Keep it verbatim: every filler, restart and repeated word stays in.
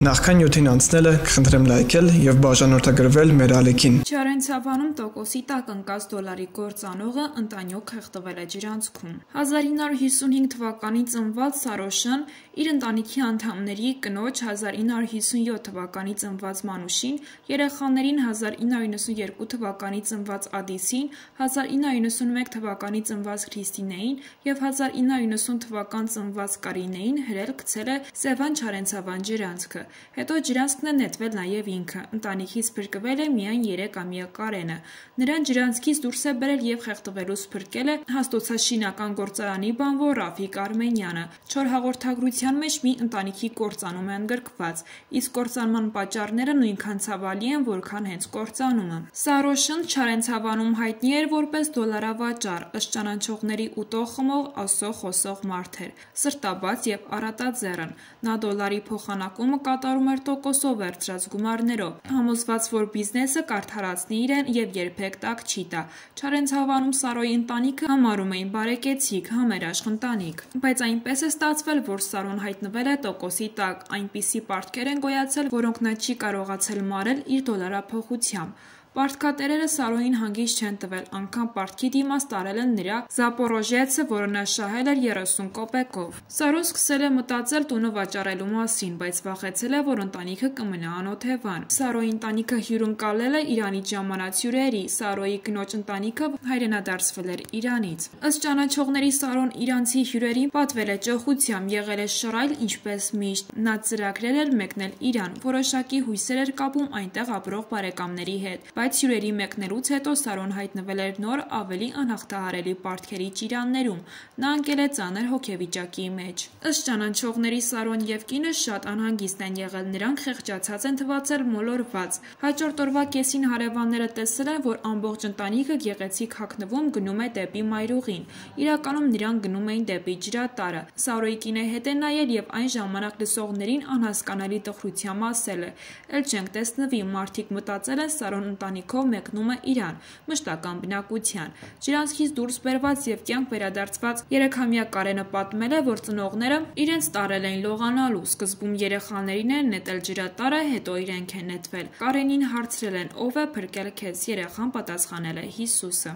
Նախքան նյութին անցնելը կխնդրեմ լայքել եւ բաժանորդագրվել մեր ալիքին։ Չարենցավանում տոկոսի տակ ընկած դոլարի գործանողը ընտանյութ խեղդվել է ջրանցքում։ հազար ինը հարյուր հիսունհինգ թվականին ծնված Սարոշն իր ընտանիքի անդամների կնոջ, հազար ինը հարյուր հիսունյոթ թվականի ծնված Մանուշին, երեխաներին հազար ինը հարյուր նվսանյոթ թվականի ծնված Ադիսին, հազար ինը հարյուր նվսանմեկ թվականի ծնված Քրիստինեին եւ հազար ինը հարյուր նվսան թվական ծնված Կարինեին հրել գցել է Սևան Չարենցավան ջրանցքը։ Հետո ջրանցքն է նետվել նաև ինքը, ընտանիքից փրկվել է միայն երեքամյա Կարենը։ Նրան ջրանցքից դուրս է բերել եւ խեղդվելուց փրկել է հաստոցաշինական գործարանի բանվոր Ռաֆիկ Արմենյանը։ Չոր հաղորդագրության մեջ մի ընտանիքի կործանում է ընդգրկված, իսկ կործանման պատճառները նույնքան ցավալի են, որքան հենց կործանումը։ Սարոշն Չարենցավանում հայտնի էր որպես դոլարավաճառ, ըստ ճանաչողների ուտող խմող Աստծո խոսող մարդ էր, սրտաբաց եւ առատաձեռն։ Նա դոլարի փոխանակումը կատարում էր տոկոսով վերցրած գումարներով, համոզված, որ բիզնեսը կարդարացնի իրեն եւ երբեք տակ չի տա։ Չարենցավանում Սարոյի ընտանիքը համարում էին բարեկեցիկ, համերաշխ ընտանիք, բայց այնպես է ստացվել, որ Սարոն հայտնվել է տոկոսի տակ, այնպիսի պարտքեր են գոյացել, որոնք նա չի կարողացել մարել իր դոլարափոխությամբ։ Պարտքատերերը Սարոյին հանգիստ չեն տվել, անգամ պարտքի դիմաց տարել են նրա Զապորոժեցը, որը նա շահել էր երեսուն կոպեկով։ Սարոն սկսել է մտածել տունը վաճառելու մասին, բայց վախեցել է, որ ընտանիքը կմնա անօթևան։ Սարոյի ընտանիքը հյուրընկալել է Իրանից ժամանած հյուրերի, Սարոյի կնոջ ընտանիքը հայրենադարձվել էր Իրանից։ Ըստ ճանաչողների Սարոն իրանցի հյուրերին պատվել է ճոխությամբ, եղել է շռայլ ինչպես միշտ։ Նա ծրագրել էր մեկնել Իրան, որոշակի հույսեր էր կապում այնտեղ ապրող բարեկամների հետ, բայց հյուրերի մեկնելուց հետո Սարոն հայտնվել էր նոր ավելի անհաղթահարելի պարտքերի ճիրաններում։ Նա ընկել է ծանր հոգեվիճակի մեջ։ Ըստ ճանաչողների Սարոն եւ կինը շատ անհանգիստ են եղել, նրանք խեղճացած են թվացել, մոլորված։ Հաջորդ օրվա կեսին հարևանները տեսել են, որ ամբողջ ընտանիքը գեղեցիկ հագնվում գնում է դեպի մայրուղին։ Իրականում նրանք գնում էին դեպի ջրատարը։ Սարոյի կինը հետ է նայել եւ այն ժամանակ լսողներին անհասկանալի տխրությամբ ասել է. «Էլ չենք տեսնվի, մարդիկ մտածել են Սարոն ընտանիքով մեկնում է Իրան, մշտական բնակության»։ Ջրանցքից դուրս բերված եւ կյանք վերադարձված երեքամյա Կարենը պատմել է, որ ծնողները իրենց տարել էին լողանալու, սկզբում երեխաներին են նետել ջրատարը, հետո իրենք են նետվել։ Կարենին հարցրել են՝ ով է փրկել քեզ, երեխան պատասխանել է՝ Հիսուսը։